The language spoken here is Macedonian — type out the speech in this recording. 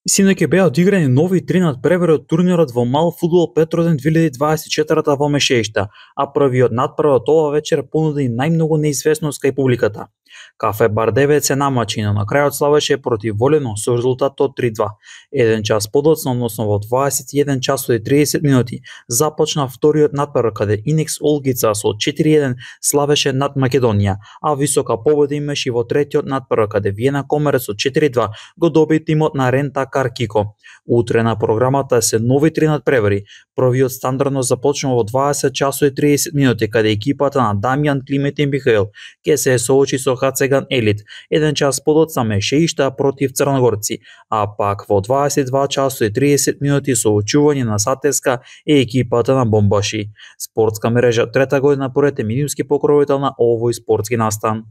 Синоќ беа одиграни нови 3 надпревари од турнирот во мал фудбал Петроден 2024 во Мешеишта, а првиот надпревар оваа вечер понуди најмногу неизвестност кај публиката. Кафе Бардевец се намачи, но на крајот славеше против Волено со резултат од 3-2. Еден час подоцна, односно во 21 часот и 30 минути, започна вториот надпревар каде Инекс Олгица со 4-1 славеше над Македонија, а висока победа имаше и во третиот надпревар каде Виена Комерец со 4-2 го доби тимот на Рента Кар Кико. Утре на програмата се нови 3 надпревари. Првиот стандардно започнува во 20 часот и 30 минути каде екипата на Дамјан Климет и Михаил ќе се соочи со Хацеган Елит. Еден час подоцна Мешеишта против Црногорци, а пак во 22 часот и 30 минути соочување на Сатеска и екипата на Бомбаши. Спортска мрежа трета година поред е медиумски покровител на овој спортски настан.